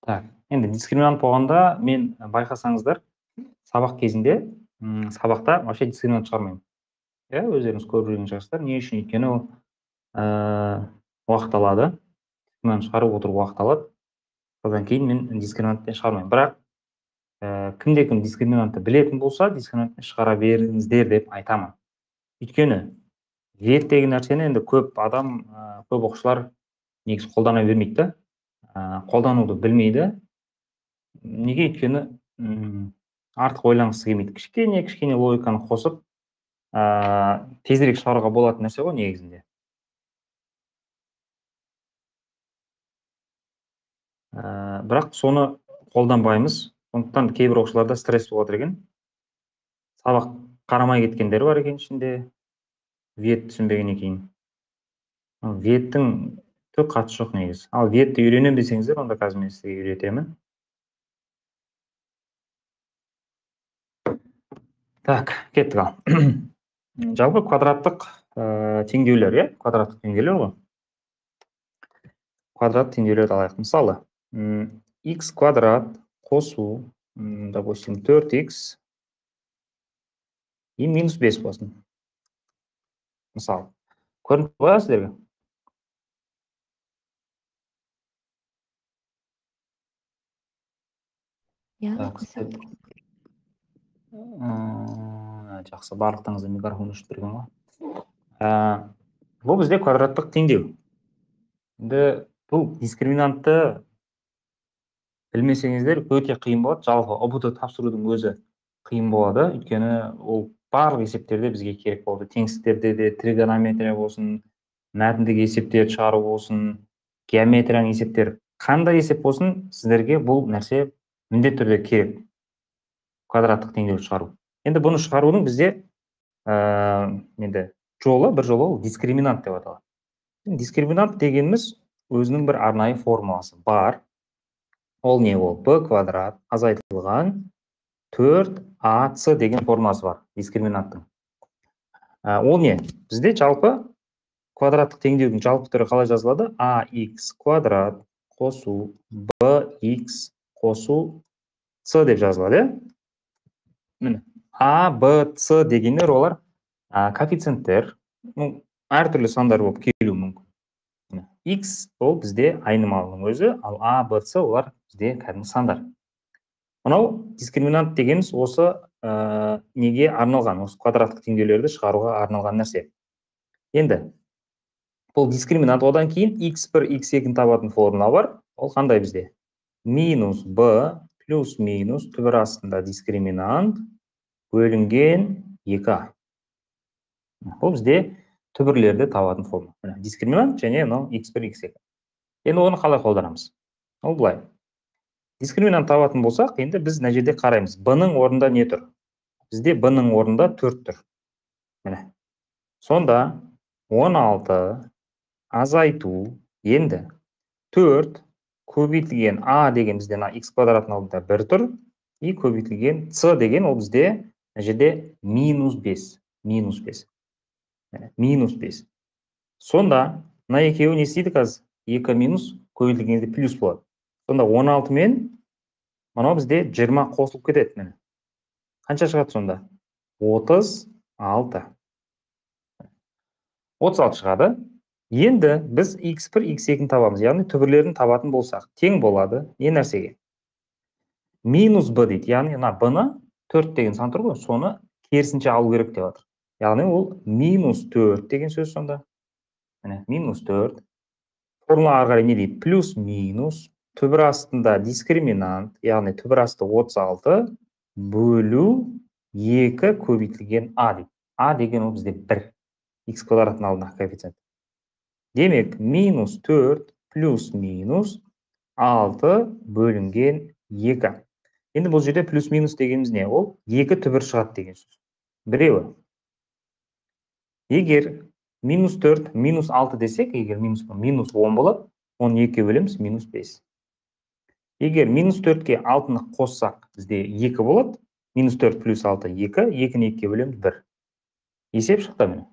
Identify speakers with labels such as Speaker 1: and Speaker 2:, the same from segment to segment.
Speaker 1: Так, енді дискриминант болғанда мен байқасаңыздар, сабақ кезінде сабақта вообще дискриминант шығармаймын. Иә, өздеріңіз көріп жүрген шығарсыздар. Не үшін? Өйткені ол уақыт алады. Дискриминант шығарып отыру уақыт алады. Содан кейін мен дискриминантты шығармаймын. Бірақ кімде-кім дискриминантты білетін болса, дискриминантты шығара беріңіздер деп айтамын. Өйткені вет деген нәрсені енді көп адам, көп оқушылар негізі қолдана бермейді да. Қолдануды білмейді. Неге? Өйткені артық ойланғысы келмейді. Кішкене логиканы қосып, тезірек шығаруға болатын нәрсе ғой негізінде. Бірақ соны қолданбаймыз. Сондықтан кейбір оқушыларда стресс болып жатыр екен. Сабақ қарамай кеткендер бар екен ішінде, вет түсінбегеннен кейін. Веттің түк қатысы жоқ негізі. Ал ветті үйренемін десеңіздер, онда қазір мен сізге үйретемін. Так, кеттік ал. Жалпы квадраттық теңдеулер, иә? Квадраттық теңдеулер ғой. Квадрат теңдеулерді алайық. Мысалы, x квадрат қосу, допустим, 4x и минус 5 болсын. Мысалы, көрініп қоя сіздерге? Жақсы, барлықтарыңызда микрофон өшіп тұрған ғой. Бұл бізде квадраттық теңдеу. Енді бұл дискриминантты білмесеңіздер өте қиын болады. Жалпы ұбт тапсырудың өзі қиын болады. Өйткені ол барлық есептерде бізге керек болды. Теңсіздіктерде де, тригонометрия болсын, мәтіндік есептерді шығару болсын, геометрияның есептері, қандай есеп болсын, сіздерге бұл нәрсе міндетті түрде керек. Квадраттық теңдеуді шығару. Енді бұны шығарудың бізде енді бір жолы ол дискриминант деп аталады. Дискриминант дегеніміз өзінің бір арнайы формуласы бар. Ол не ол? b квадрат азайтылған 4ac деген формуласы бар дискриминанттың. Ол не? Бізде жалпы квадраттық теңдеудің жалпы түрі қалай жазылады? ax квадрат қосу bx қосу c деп жазылады. Міне, a, b, c дегендер олар коэффициенттер, әртүрлі сандар болып келуі мүмкін. X ол бізде айнымалының өзі, ал a, b, c олар бізде кәдімгі сандар. Мынау дискриминант дегеніміз осы неге арналған, осы квадраттық теңдеулерді шығаруға арналған нәрсе. Енді бұл дискриминант, одан кейін x1, x2 табатын формула бар. Ол қандай бізде? Минус b плюс минус түбір астында дискриминант бөлінген 2a. Бұл бізде түбірлерді табатын формула. Дискриминант және x1, x2. Енді оны қалай қолданамыз? Ол былай. Дискриминант табатын болсақ, енді біз мына жерде қараймыз. b-ның орнында не тұр? Бізде b-ның орнында 4 тұр. Міне. Сонда 16 азайту, енді 4 көбейтілген a деген бізде x квадраттың алдында 1 тұр, и көбейтілген c деген ол бізде мына жерде минус 5. Минус 5. Минус 5. Сонда мына екеуі не істейді қазір? 2 минус көбейтілгенде плюс болады. Сонда 16 мен мынау бізде 20 қосылып кетеді. Қанша шығады сонда? 36. 36 шығады. Енді біз x1, x2 табамыз. Яғни түбірлерін табатын болсақ, тең болады. Не нәрсеге? Минус b дейді. Яғни b-ны 4 деген сан тұр ғой, соны керісінше алу керек деп жатыр. Яғни ол минус 4 деген сөз сонда. Минус 4. Формулаға қарай не дейді? Плюс минус түбір астында дискриминант, яғни түбір асты 36 бөлу 2 көбейтілген a дейді. a деген ол бізде 1. X квадраттың алдындағы коэффициент. Демек, минус 4 плюс минус 6 бөлінген 2. Енді бұл жерде плюс минус дегеніміз не? Ол 2 түбір шығады деген сөз. Біреуі. Егер минус 4, минус 6 десек, егер минус 10 болады, оны 2 бөлеміз, минус 5. Егер минус 4-ке 6-ны қоссақ, бізде 2 болады. Минус 4 плюс 6, 2. 2-ні 2 бөлеміз, 1. Есеп шықты міне.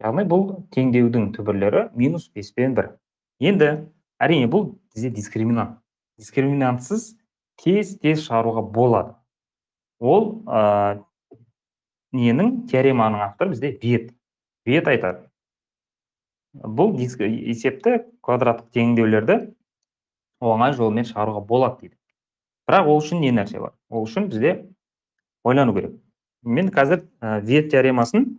Speaker 1: Яғни бұл теңдеудің түбірлері минус 5 пен 1. Енді әрине бұл бізде дискриминант. Дискриминантсыз тез шығаруға болады. Ол ненің теореманың авторы бізде Вет. Вет айтады. Бұл есепті квадраттық теңдеулерді оңай жолмен шығаруға болады дейді. Бірақ ол үшін не нәрсе бар? Ол үшін бізде ойлану керек. Мен қазір Вет теоремасын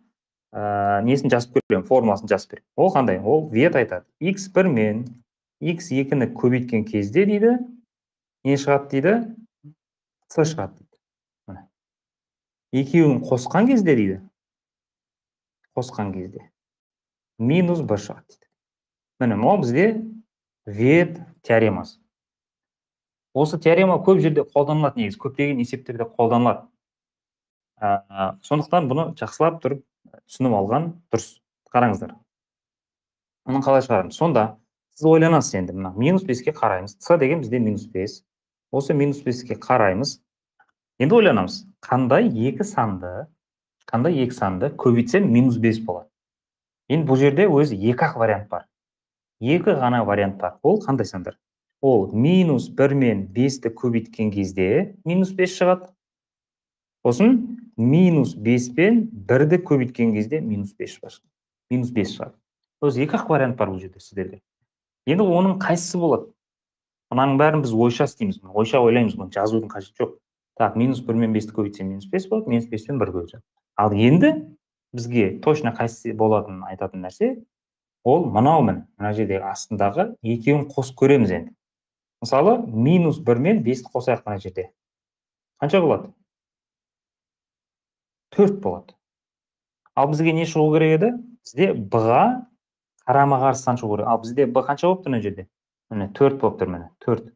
Speaker 1: несін жазып көремін, формуласын жазып беремін. Ол қандай? Ол Вет айтады. X1 мен X2-ні көбейткен кезде дейді, не шығады дейді? С шығады дейді. Екеуін қосқан кезде дейді. Қосқан кезде. Минус Б шығады дейді. Міне, ол бізде Вет теоремасы. Осы теорема көп жерде қолданылады негізі, көптеген есептерде қолданылады. Сондықтан бұны жақсылап тұрып түсініп алған дұрыс. Қараңыздар. Оның қалай шығарамыз? Сонда сіз ойланасыз енді, мына минус 5-ке қараймыз. С деген бізде минус 5. Осы минус 5-ке қараймыз. Енді ойланамыз. Қандай екі санды көбейтсем минус 5 болады. Енді бұл жерде өзі екі-ақ вариант бар. Екі ғана вариант бар. Ол қандай сандар? Ол минус 1 мен 5-ті көбейткен кезде минус 5 шығады. Сосын минус 5 пен 1-ді көбейткен кезде минус 5 шығады. Минус 5 шығады. Өзі екі-ақ вариант бар бұл жерде сіздерде. Енді оның қайсысы болады? Мұнаның бәрін біз ойша істейміз. Ойша ойлаймыз, бұны жазудың қажеті жоқ. Так, минус 1 мен 5-ті көбейтсем минус 5 болады, минус 5 пен 1 көбейтсем. Ал енді бізге точно қайсысы болатынын айтатын нәрсе, ол мынау мына жердегі астындағы екеуін қосып көреміз енді. Мысалы, минус 1 мен 5-ті қосайық мына жерде. Қанша болады? 4 болады. Ал бізге не шығу керек еді? Бізде Б-ға қарама-қарсы сан шығу керек. Ал бізде Б қанша болып тұр мына жерде? Міне 4 болып тұр, міне 4.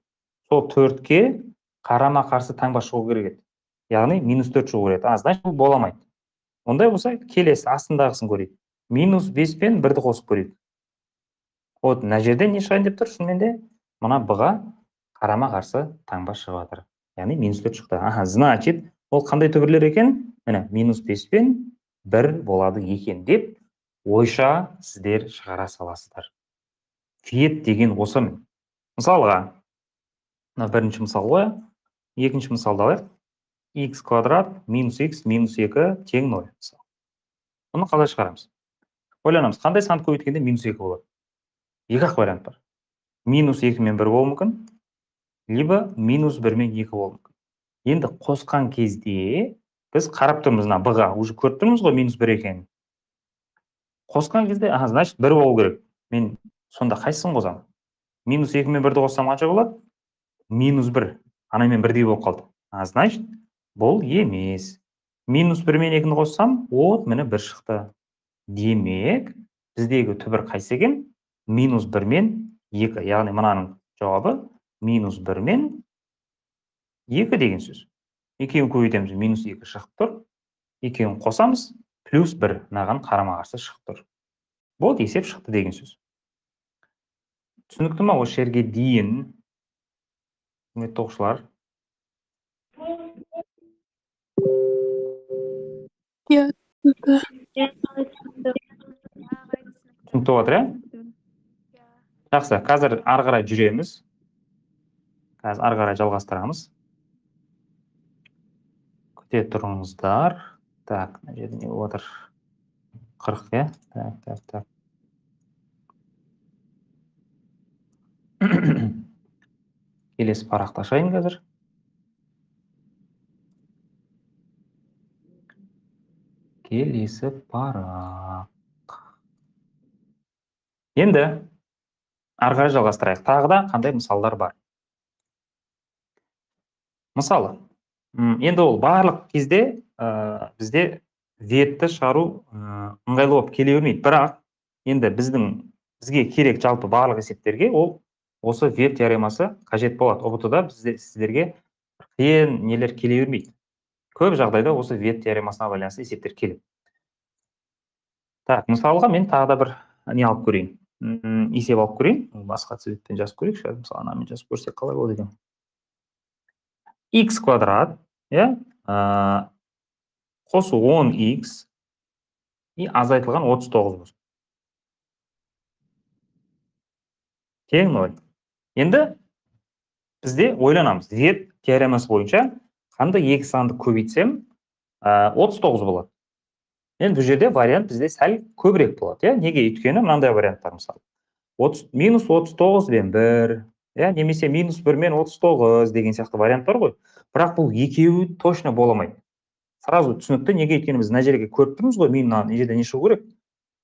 Speaker 1: Сол 4-ке қарама-қарсы таңба шығу керек еді. Яғни минус 4 шығу керек еді. Значит, бұл боламайды. Ондай болса, келесі астындағысын көрейік. Минус 5 пен 1-ді қосып көрейік. Вот, мына жерде не шығайын деп тұр? Шынымен де мына Б-ға қарама-қарсы таңба шығып жатыр. Яғни минус 4 шықты. Значит, ол қандай түбірлер екен? Міне, минус 5 пен 1 болады екен деп ойша сіздер шығара саласыздар. Вет деген осы. Мысалға, бірінші мысал ғой, екінші мысалды алайық. X квадрат минус X минус 2 тең 0. Оны қалай шығарамыз? Ойланамыз, қандай санды көбейткенде минус 2 болады? Екі-ақ вариант бар. Минус 2 мен 1 болуы мүмкін, либо минус 1 мен 2 болуы мүмкін. Енді қосқан кезде біз қарап тұрмыз, Б-ға уже көріп тұрмыз ғой минус 1 екенін. Қосқан кезде, значит 1 болу керек. Мен сонда қайсысын қосамын? Минус 2 мен 1-ді қоссам қанша болады? Минус 1. Мен 1-дей болып қалды. Значит, бұл емес. Минус 1 мен 2-ні қоссам, міне 1 шықты. Демек, біздегі түбір қайсы екен? Минус 1 мен 2. Яғни мынаның жауабы минус 1 мен 2 деген сөз. Екеуін көбейтеміз, минус 2 шығып тұр. Екеуін қосамыз, плюс 1 мынаған қарама-қарсы шығып тұр. Бұл есеп шықты деген сөз. Түсінікті ма осы жерге дейін? Құрметті оқушылар. Түсінікті болатыр, иә? Жақсы, қазір ары қарай жүреміз. Қазір ары қарай жалғастырамыз. Күте тұрыңыздар. Так, мына жерде не болып отыр? 40, иә? Так. Келесі парақты ашайын қазір. Келесі парақ. Енді ары қарай жалғастырайық. Тағы да қандай мысалдар бар? Мысалы, енді ол барлық кезде бізде ветті шығару ыңғайлы болып келе бермейді. Бірақ енді бізге керек жалпы барлық есептерге ол осы вет теоремасы қажет болады. ОБТ-да сіздерге қиын нелер келе бермейді. Көп жағдайда осы вет теоремасына байланысты есептер келеді. Так, мысалға мен тағы да бір не алып көрейін. Есеп алып көрейін. Басқа цветпен жазып көрейік. Мысалы, анамен жазып көрсек қалай болады екен? X квадрат, қосу 10x и азайтылған 39 болсын. Тең 0. Енді бізде ойланамыз. Z теоремасы бойынша қандай екі санды көбейтсем 39 болады. Енді бұл жерде вариант бізде сәл көбірек болады. Неге? Өйткені мынандай вариант бар мысалы. Минус 39 бен 1, немесе минус 1 мен 39 деген сияқты вариант бар ғой. Бірақ бұл екеуі точно боламайды. Сразу түсінікті. Неге? Өйткені біз мына жерге көріп тұрмыз ғой, мына жерде не шығу керек?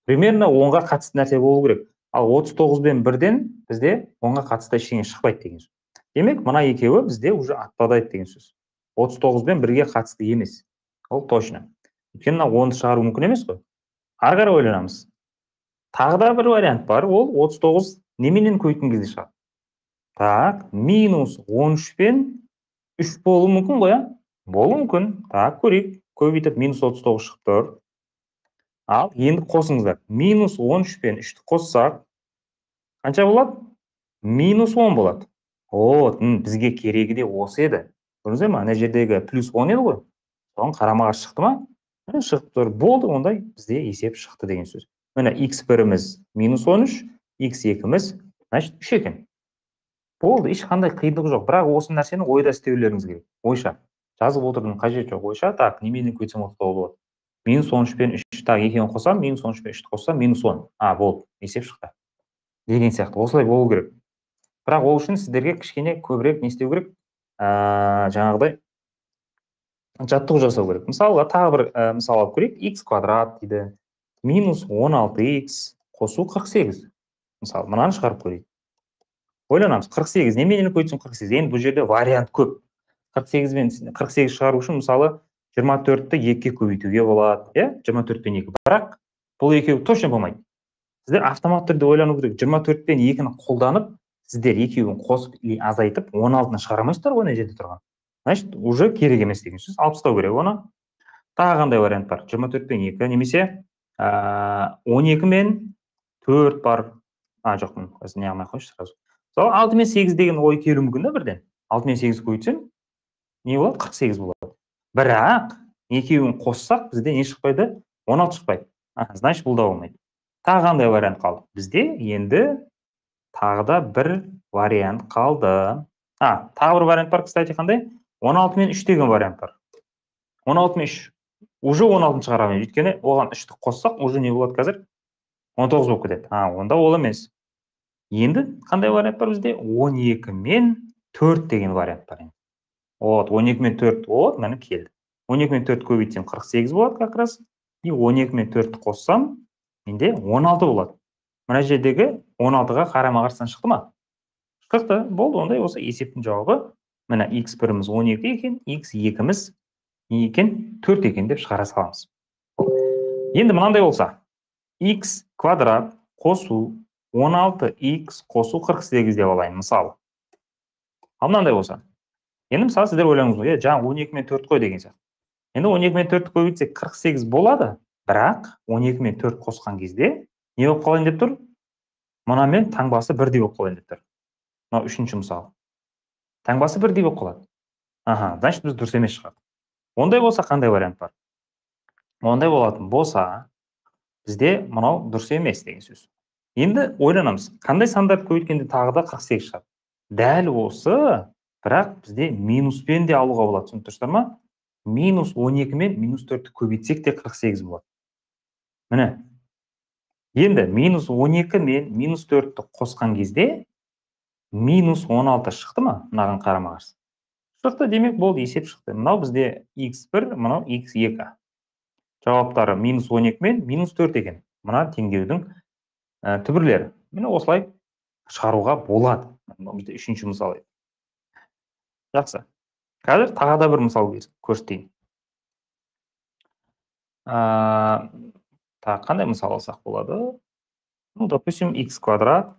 Speaker 1: Примерно 10-ға қатысты нәрсе болу керек. Ал 39 бен 1-ден бізде 10-ға қатысты ештеңе шықпайды деген сөз. Демек, мына екеуі бізде уже отпадайды деген сөз. 39 бен 1-ге қатысты емес. Ол точно. Өйткені 10-ды шығару мүмкін емес қой. Ары қарай ойланамыз. Тағы да бір вариант бар, ол 39 неменен көбейткен кезде шығады. Так, минус 13 пен 3 болуы мүмкін ғой, болуы мүмкін. Так, көрейік. Көбейтіп минус 39 шығып тұр. Ал енді қосыңыздар. Минус 13 пен 3-ті қоссақ, қанша болады? Минус 10 болады. Бізге керегі де осы еді. Көрдіңіздер ме? Ана жердегі плюс 10 еді ғой. Соған қарама қарсы шықты ма? Шығып тұр. Болды, ондай бізде есеп шықты деген сөз. Міне x1-іміз минус 13, x2-іміз, значит, 3 екен. Болды, ешқандай қиындығы жоқ. Бірақ осы нәрсені ойда істеулеріңіз керек. Ойша. Жазып отырдың қажеті жоқ. Ойша, так, неменен көбейтсем 39 болады. Минус 13 пен 3, так, екеуін қоссам, минус 13 пен 3-ті қоссам, минус 10. Болды, есеп шықты. Деген сияқты. Осылай болу керек. Бірақ ол үшін сіздерге кішкене көбірек не істеу керек? Жаңағыдай жаттығу жасау керек. Мысалға, тағы бір мысал алып көрейік. X квадрат дейді. Минус 16x қосу 48. Мысалы, мынаны шығарып көрейік. Ойланамыз. 48. Неменен көбейтсем 48? Енді бұл жерде вариант көп. 48 мен 48 шығару үшін, мысалы, 24-ті 2-ге көбейтуге болады. 24 пен 2. Бірақ бұл екеуі точно болмайды. Сіздер автомат түрде ойлану керек. 24 пен 2-ні қолданып, сіздер екеуін қосып и азайтып, 16-ны шығарамайсыздар ғой, ана жерде тұрған. Значит, уже керек емес деген сөз. Алып тастау керек оны. Тағы қандай вариант бар? 24 пен 2, немесе 12 мен 4 бар. Жоқ, не алмай қойшы сразу. 6 мен 8 деген ой келуі мүмкін да бірден. 6 мен 8 көбейтсем, не болады? 48 болады. Бірақ екеуін қоссақ, бізде не шықпайды? 16 шықпайды. Значит, бұл да болмайды. Тағы қандай вариант қалды? Бізде енді тағы да бір вариант қалды. Тағы бір вариант бар, кстати, қандай? 16 мен 3 деген вариант бар. 16 мен 3. Уже 16-ны шығарамын. Өйткені оған 3-ті қоссақ, уже не болады қазір? 19 болып кетеді. Онда ол емес. Енді қандай вариант бар бізде? 12 мен 4 деген вариант бар. 12 мен 4, мәні келді. 12 мен 4 көбейтсем 48 болады как раз. И 12 мен 4-ті қоссам, менде 16 болады. Мына жердегі 16-ға қарама-қарсыдан шықты ма? Шықты. Болды, ондай осы есептің жауабы. Мына x1-іміз 12 екен, x2-іміз екен, 4 екен деп шығара саламыз. Енді мынандай болса, x квадрат қосу 16x қосу 48 деп алайын, мысалы. Ал мынандай болса. Енді мысалы сіздер ойлаңыз ғой, жаңа 12 мен 4 қой деген сияқты. Енді 12 мен 4 көбейтсек 48 болады, бірақ 12 мен 4 қосқан кезде не болып қалайын деп тұр? Мұнамен таңбасы бірдей болып қалайын деп тұр. Мынау үшінші мысалы. Таңбасы бірдей болып қалады. Значит, біз дұрыс емес шығады. Ондай болса қандай вариант бар? Ондай болатын болса, бізде мынау дұрыс емес деген сөз. Енді ойланамыз, қандай сандарды көбейткенде тағы да 48 шығады. Дәл осы, бірақ бізде минуспен де алуға болады. Түсініп тұрсыздар ма? Минус 12 мен минус 4-ті көбейтсек те 48 болады. Міне. Енді минус 12 мен минус 4-ті қосқан кезде минус 16 шықты ма? Мынаған қарама-қарсы. Шықты, демек болды, есеп шықты. Мынау бізде x1, мынау x2. Жауаптары минус 12 мен минус 4 екен. Мына теңдеудің түбірлері. Міне осылай шығаруға болады. Бізде үшінші мысал. Жақсы. Қазір тағы да бір мысал көрсетейін. Қандай мысал алсақ болады? Допустим, x квадрат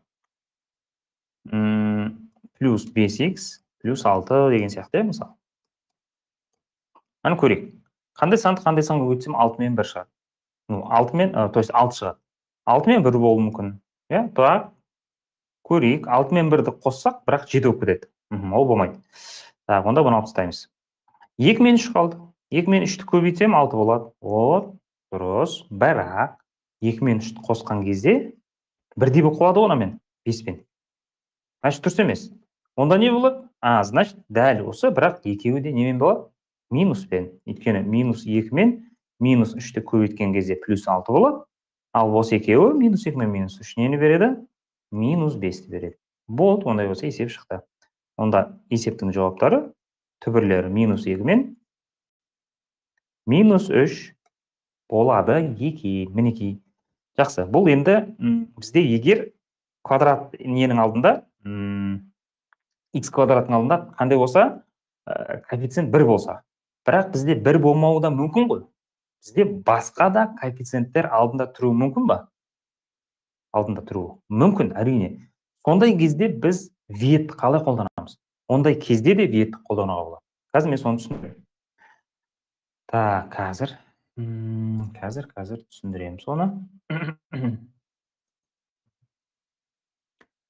Speaker 1: плюс 5x плюс 6 деген сияқты, мысал. Аны көрейік. Қандай санды көбейтсем 6 мен 1 шығады. 6 мен, то есть 6 шығады. 6 мен 1 болуы мүмкін. Так, көрейік. 6 мен 1-ді қоссақ, бірақ 7 болып кетеді. Ол болмайды. Так, онда бұны алып тастаймыз. 2 мен 3 қалды. 2 мен 3-ті көбейтсем 6 болады. дұрыс. Бірақ 2 мен 3-ті қосқан кезде бірдей болып қалады ғой мен 5-пен. Значит, дұрыс емес. Онда не болады? Значит, дәл осы, бірақ екеуі де немен болады? Минуспен. Өйткені -2 мен -3-ті көбейткен кезде +6 болады. Ал осы екеуі -2 мен -3 нені береді? -5-ті береді. Болды, ондай болса есеп шықты. Онда есептің жауаптары түбірлері -2 мен -3 болады екен. Мінекей. Жақсы. Бұл енді бізде егер квадрат ненің алдында, x квадраттың алдында қандай болса, коэффициент 1 болса. Бірақ бізде 1 болмауы да мүмкін ғой. Бізде басқа да коэффициенттер алдында тұруы мүмкін ба? Алдында тұруы мүмкін, әрине. Сондай кезде біз ветті қалай қолданамыз? Ондай кезде де ветті қолдануға болады. Қазір мен соны түсіндірем. Қазір түсіндірем соны.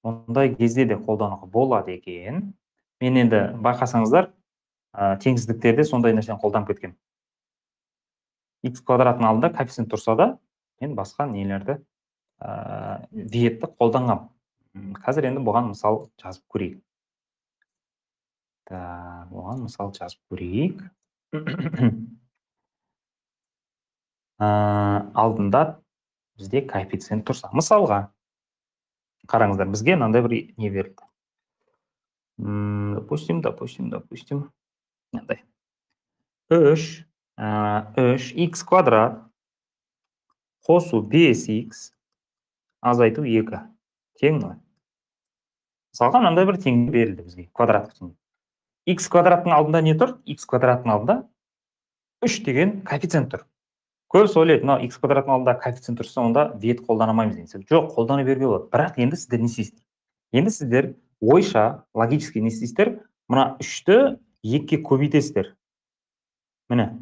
Speaker 1: Ондай кезде де қолдануға болады екен. Мен енді байқасаңыздар, теңсіздіктерде сондай нәрсені қолданып кеткен. X квадраттың алдында коэффициент тұрса да, мен басқа нелерді ветті қолданғам. Қазір енді бұған мысал жазып көрейік. Бұған мысал жазып көрейік. Алдында бізде коэффициент тұрса. Мысалға, қараңыздар, бізге мынандай бір не берілді. Допустим. Мынандай. 3x квадрат қосу 5x азайту 2 тең 0. Мысалға, мынандай бір теңдеу берілді бізге, квадраттық теңдеу. X квадраттың алдында не тұр? X квадраттың алдында 3 деген коэффициент тұр. Көбісі ойлайды, мынау x квадраттың алдында коэффициент тұрса, онда вет қолданамаймыз деген. Жоқ, қолдана беруге болады. Бірақ енді сіздер не істейсіздер? Енді сіздер ойша, логически не істейсіздер? Мына 3-ті 2-ге көбейтесіздер. Міне,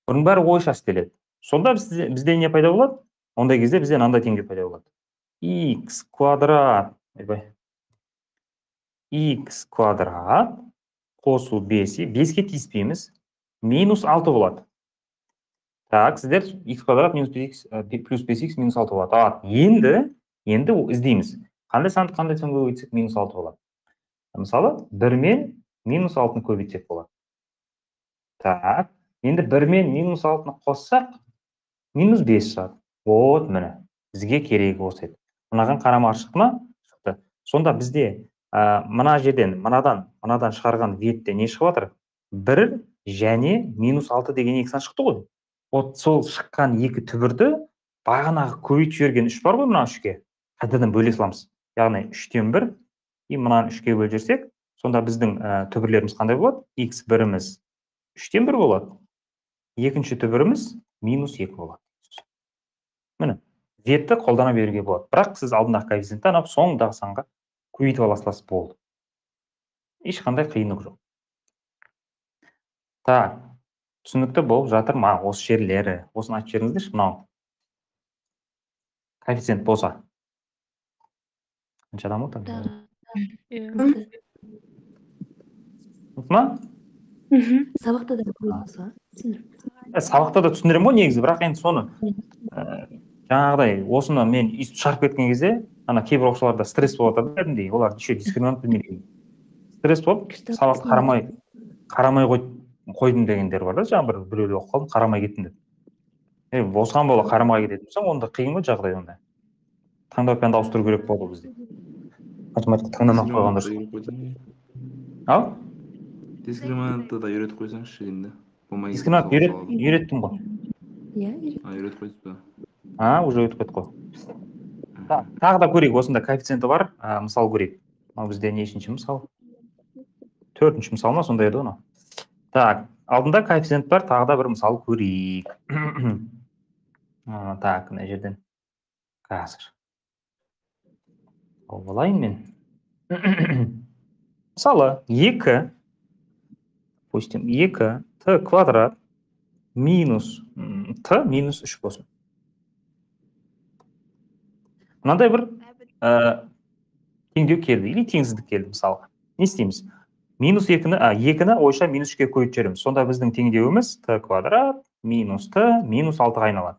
Speaker 1: бұның бәрі ойша істеледі. Сонда бізде не пайда болады? Ондай кезде бізде мынандай теңдеу пайда болады. X квадрат қосу 5-ге тиіспейміз, -6 болады. Так, сіздер x квадрат плюс 5x -6 болады. Енді іздейміз. Қандай санды қандай санға көбейтсек -6 болады. Мысалы, 1 мен -6-ны көбейтсек болады. Так, енді 1 мен -6-ны қоссақ, -5 шығады. Вот, міне, бізге керегі осы еді. Мынаған қарама шықты ма? Шықты. Сонда бізде мына жерден, мынадан шығарған ветте не шығып жатыр? 1 және -6 деген екісінен шықты ғой. Вот сол шыққан екі түбірді бағанағы көбейтіп жіберген 3 бар ғой, мына 3-ге. Қайтадан бөле саламыз. Яғни 3-тен 1, мынаны 3-ге бөліп жіберсек, сонда біздің түбірлеріміз қандай болады? x1-іміз 3-тен 1 болады. Екінші түбіріміз -2 болады. Міне, ветті қолдана беруге болады. Бірақ сіз алдындағы коэффициентті анап соңындағы санға көбейтіп аласыз болды. Ешқандай қиындық жоқ. Так, түсінікті болып жатыр ма? Осы жерлері. Осыны айтып жіберіңіздерші, мынау. Коэффициент болса. Қанша адам отыр? Ма?
Speaker 2: Сабақта да болса.
Speaker 1: Сабақта да түсіндірем ғой негізі, бірақ енді соны жаңағыдай осыны мен үйтіп шығарып кеткен кезде, ана кейбір оқушыларда стресс болып жатады кәдімгідей, олар еще дискриминант білмейді. Стресс болып, сабақты қарамай қойдым дегендер бар да, жаңа біреуді оқып қалдым, қарамай кеттім деп. Осыған бола қарамай кететін болсаң, онда қиын ғой жағдай онда. Таңдау пәнді ауыстыру керек болды бізде. Математика таңдамай қойған дұрыс. Ал?
Speaker 3: Дискриминантты да үйретіп қойсаңызшы енді.
Speaker 1: Дискриминант үйреттім ғой.
Speaker 2: Иә, үйретіп.
Speaker 3: Үйретіп қойсыз ба?
Speaker 1: Уже өтіп кетті ғой. Тағы да көрейік, осында коэффициенті бар, мысал көрейік. Бізде нешінші мысал? 4-ші мысал ма, сондай еді оны. Так, алдында коэффициент бар, тағы да бір мысал көрейік. Так, мына жерден. Қазір. Олайын мен. Мысалы, 2 t квадрат минус t минус 3 болсын. Мынандай бір теңдеу келді, или теңсіздік келді мысалға. Не істейміз? -2-ні ойша -3-ге көбейтіп жібереміз. Сонда біздің теңдеуіміз t квадрат минус t минус 6-ға айналады.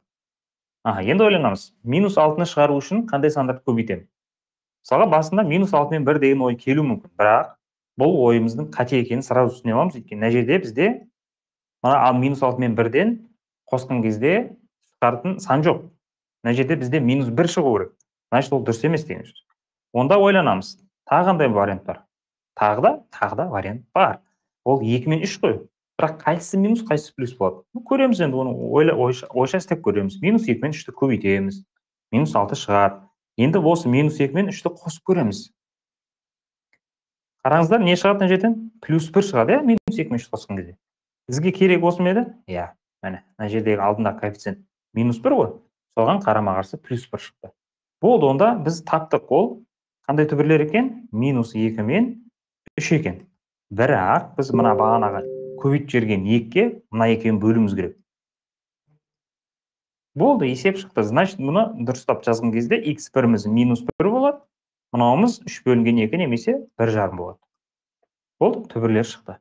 Speaker 1: Енді ойланамыз. Минус 6-ны шығару үшін қандай сандарды көбейтемін? Мысалға, басында минус 6 мен 1 деген ой келу мүмкін, бірақ бұл ойымыздың қате екенін сразу түсіне аламыз. Өйткені мына жерде бізде минус 6 мен 1-ден қосқан кезде шығаратын сан жоқ. Мына жерде бізде минус 1 шығу керек. Значит, ол дұрыс емес деген сөз. Онда ойланамыз. Тағы қандай вариант бар? Тағы да вариант бар. Ол 2 мен 3 қой. Бірақ қайсысы минус, қайсысы плюс болады? Көреміз енді, оны ойша істеп көреміз. Минус 2 мен 3-ті көбейтеміз. Минус 6 шығады. Енді осы минус 2 мен 3-ті қосып көреміз. Қараңыздар, не шығады мына жерден? Плюс 1 шығады, минус 2 мен 3 қосқан кезде. Бізге керек осы ма еді? Міне, мына жердегі алдындағы коэффициент минус 1 ғой. Соған қарама қарсы плюс 1 шықты. Болды, онда біз таптық. Ол қандай түбірлер екен? Минус 2 мен 3 екен. Бірақ біз мына бағанағы көбейтіп жіберген 2-ге мына екеуін бөлуіміз керек. Болды, есеп шықты. Значит, мұны дұрыстап жазған кезде x1-міз минус 1 болады, мынауымыз 3 бөлінген 2 немесе 1,5 болады. Болды, түбірлер шықты.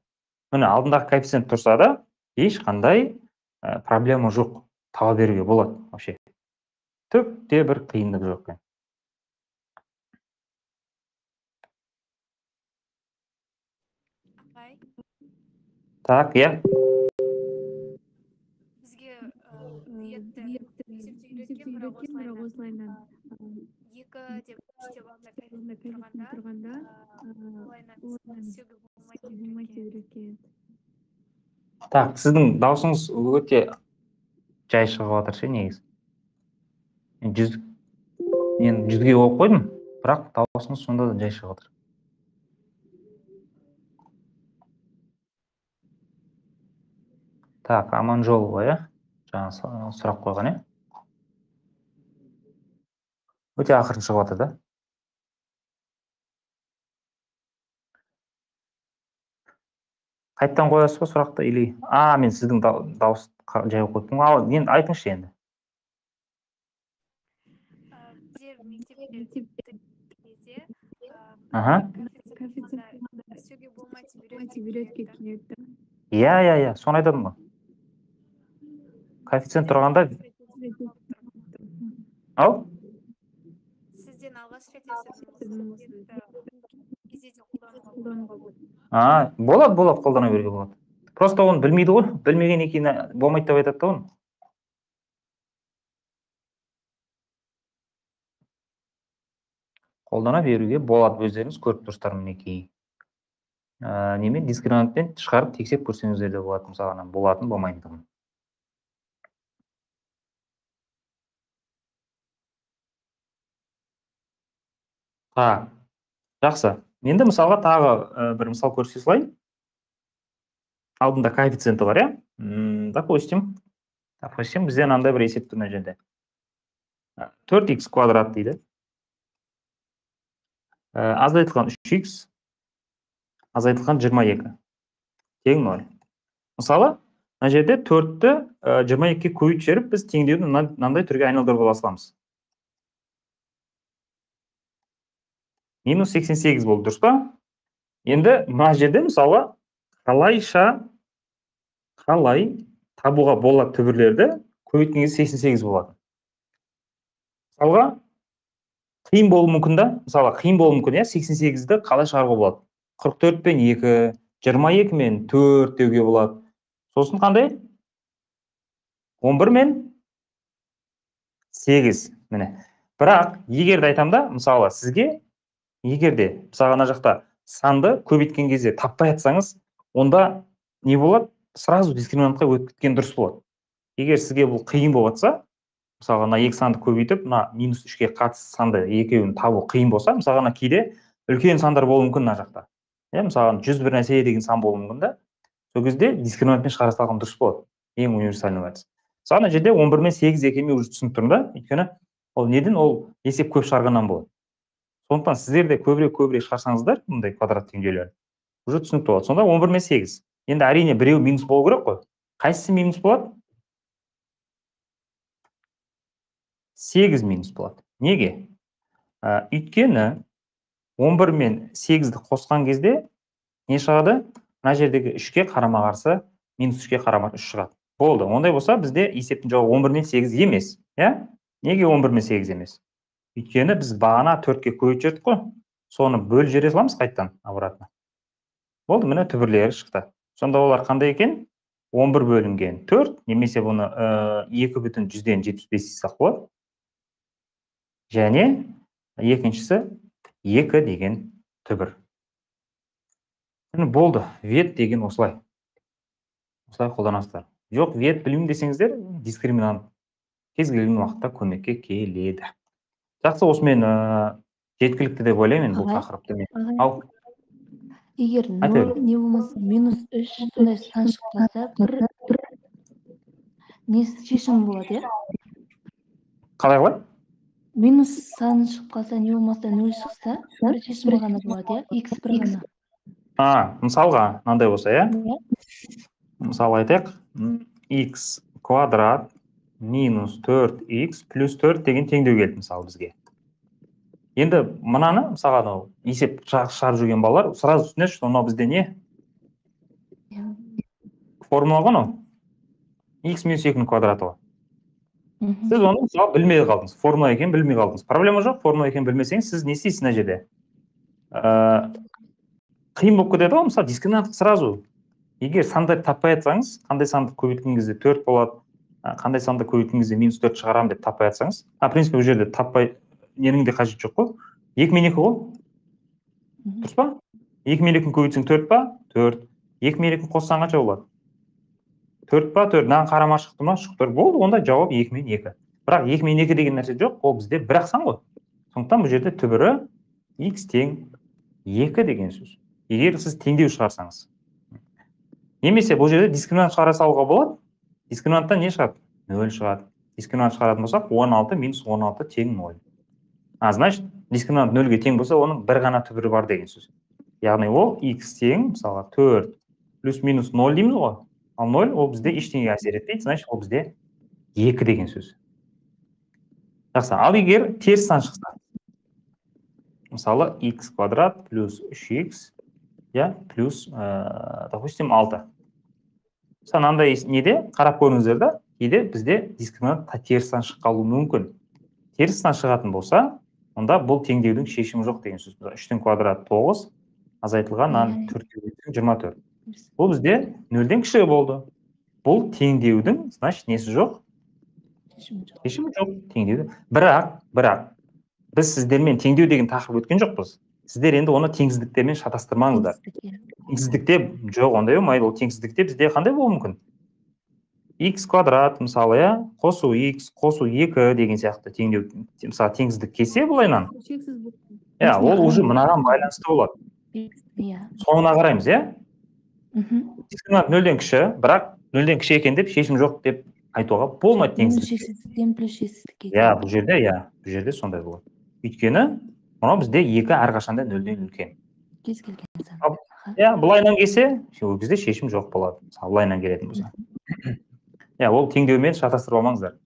Speaker 1: Міне, алдындағы коэффициент тұрса да, ешқандай проблема жоқ. Таба беруге болады вообще. Түкте бір қиындық жоқ. Так,
Speaker 4: Бізге ниетті есептеу керек екен, бірақ осылайынан 2 деп 3 деп тұрғанда олайынан сөгі болмайды екен.
Speaker 1: Так, сіздің даусыңыз өте жай шығып жатыр ше, негізі. Мен 100-ге қойып қойдым, бірақ даусыңыз сонда да жай шығып жатыр. Так, Аманжолова, жаңа сұрақ қойған, өте ақырын шығып жатыр да. Қайттан қоясыз ба сұрақты, или мен сіздің дауыс жай қойыппын. Енді айтыңызшы енді.
Speaker 4: Біздер мектепте сөге болмайды үйретке келеді.
Speaker 1: Соны айтадым ғой. Коэффициент тұрғанда
Speaker 4: Сізден алғаш рет
Speaker 1: болады, қолдана беруге болады. Просто оны білмейді ғой, білмеген екені болмайды деп айтады да оны. Қолдана беруге болады, өздеріңіз көріп тұрсыздар мінекей. Немен дискриминантпен шығарып тексеріп көрсеңіздер де болады, мысалы, болатын болмайтындығын. Жақсы. Енді мысалға тағы бір мысал көрсете салайын. Алдында коэффициенті бар, Допустим, бізден андай бір есеп тұр мына жерде. 4x квадрат дейді. Азайтылған 3x, азайтылған 22. Тең 0. Мысалы, мына жерде 4-ті 22-ге көбейтіп жіберіп, біз теңдеуді мынандай түрге айналдырып ала саламыз. Минус 88 болды, дұрыс па? Енді мына жерде мысалы қалай табуға болады түбірлерді, көбейткен кезде 88 болады. Мысалға қиын болуы мүмкін да, 88-ді қалай шығаруға болады? 44 пен 2, 22 мен 4 деуге болады. Сосын қандай? 11 мен 8. Міне. Бірақ егерде айтам да, мысалы сізге егерде мысалға ана жақта санды көбейткен кезде таппай атсаңыз, онда не болады? Сразу дискриминантқа өтіп кеткен дұрыс болады. Егер сізге бұл қиын болып атса, мысалға мына 2 санды көбейтіп, мына минус 3-ге қатысты санды екеуін табу қиын болса, мысалға кейде үлкен сандар болуы мүмкін мына жақта. Мысалға 101 нәрсе деген сан болуы мүмкін да. Сол кезде дискриминантпен шығара салған дұрыс болады. Ең универсальный вариант. Мысалы мына жерде 11 мен 8 екенін уже түсініп тұрмын да. Өйткені ол неден ол есеп көп шығарғаннан болады. Сондықтан сіздер де көбірек шығарсаңыздар, мұндай квадрат теңдеулер уже түсінікті болады. Сонда 11 мен 8. Енді әрине біреу минус болу керек қой. Қайсысы минус болады? 8 минус болады. Неге? Өйткені 11 мен 8-ді қосқан кезде не шығады? Мына жердегі 3-ке қарама қарсы минус 3-ке қарама 3 шығады. Болды. Ондай болса, бізде есептің жауабы 11 мен 8 емес. Иә? Неге 11 мен 8 емес? Өйткені біз бағана 4-ке көбейтіп жібердік қой. Соны бөліп жібере саламыз қайтадан обратно. Болды, міне түбірлері шықты. Сонда олар қандай екен? 11 бөлінген 4, немесе бұны 2,175 десек болады. Және екіншісі 2 деген түбір. Болды, вет деген осылай. Осылай қолданасыздар. Жоқ, вет білмеймін десеңіздер, дискриминант кез келген уақытта көмекке келеді. Жақсы, осымен жеткілікті деп ойлаймын бұл тақырыпты. Ал,
Speaker 2: егер 0 не болмаса -3 сондай сан шықпаса, бір не шешім болады, иә?
Speaker 1: қалай?
Speaker 2: Минус сан шығып қалса, не болмаса 0 шықса, бір шешім ғана болады, иә? X бір ғана.
Speaker 1: Мысалға, мынандай болса, иә? Мысалы айтайық, x квадрат минус 4x плюс 4 деген теңдеу келді, мысалы бізге. Енді мынаны, мысалға, есеп шығарып жүрген балалар, сразу түсінеді, что мынау бізде не? Формула ғой, x минус 2-нің квадраты ғой. Сіз оны мысалы білмей қалдыңыз, формула екенін білмей қалдыңыз. Проблема жоқ, формула екенін білмесеңіз, сіз не істейсіз мына жерде? Қиын болып кетеді ғой, мысалы дискриминантты сразу. Егер санды таппай жатсаңыз, қандай санды көбейткен кезде 4 болады, қандай санды көбейткен кезде минус 4 шығарам деп таппай жатсаңыз, принципе, бұл жерде таппай ненің де қажет жоқ қой. 2 мен 2 ғой. Дұрыс па? 2 мен 2-ні көбейтсең 4 па? 4. 2 мен 2-ні қоссаң қанша болады? 4 па? 4. Мынаған қарама шықты ма? Шықты. Болды, онда жауап 2 мен 2. Бірақ 2 мен 2 деген нәрсе жоқ, ол бізде бір-ақ сан ғой. Сондықтан бұл жерде түбірі x тең 2 деген сөз. Егер сіз теңдеу шығарсаңыз. Немесе бұл жерде дискриминант шығара салуға болады. Дискриминанттан не шығады? 0 шығады. Дискриминант шығаратын болсақ, 16 минус 16 тең 0. Значит, дискриминант 0-ге тең болса, оның бір ғана түбірі бар деген сөз. Яғни ол x тең, мысалға 4 плюс минус 0 дейміз ғой. Ал 0 ол бізде ештеңеге әсер етпейді, значит, ол бізде 2 деген сөз. Жақсы, ал егер теріс сан шықса, мысалы x квадрат плюс 3x, плюс, допустим, 6. Санандай неде қарап көріңіздер да, кейде бізде дискриминант теріс сан шыққалуы мүмкін. Теріс сан шығатын болса, онда бұл теңдеудің шешімі жоқ деген сөз. 3-тің квадраты 9, азайтылған 4-ке 24. Бұл бізде 0-ден кіші болды. Бұл теңдеудің, значит, несі жоқ? Шешімі жоқ. Теңдеуді. Бірақ, біз сіздермен теңдеу деген тақырып өткен жоқпыз. Сіздер енді оны теңсіздіктермен шатастырмаңыздар. Теңсіздікте жоқ, ондай болмайды. Ол теңсіздікте бізде қандай болуы мүмкін? X квадрат, мысалы, қосу x, қосу 2 деген сияқты теңдеу, мысалы, теңсіздік келсе бұлайнан. Ол уже мынаған байланысты болады. Соңына қараймыз, дискриминант 0-ден кіші, бірақ 0-ден кіші екен деп шешім жоқ деп айтуға болмайды теңсіздікте. Бұл жерде сондай болады. Өйткені мынау бізде 2 әрқашанда 0-ден үлкен.
Speaker 2: Кез келген сан.
Speaker 1: Бұлайнан келсе, бізде шешім жоқ болады. Бұлайнан келетін болса. Ол теңдеумен шатастырып алмаңыздар.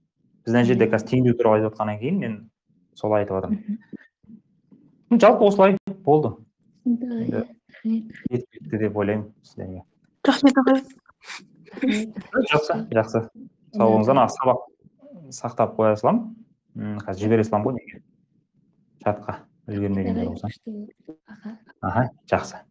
Speaker 1: Бізден жерде қазір теңдеу туралы айтып отқаннан кейін мен солай айтып отырмын. Жалпы осылай болды. Жеткілікті деп ойлаймын сіздерге.
Speaker 5: Рахмет ағай.
Speaker 1: Жақсы. Сау болыңыздар. Сабақ сақтап қоя салам. Қазір жібере салам ғой неге? Чатқа үлгермегендер болса. Жақсы.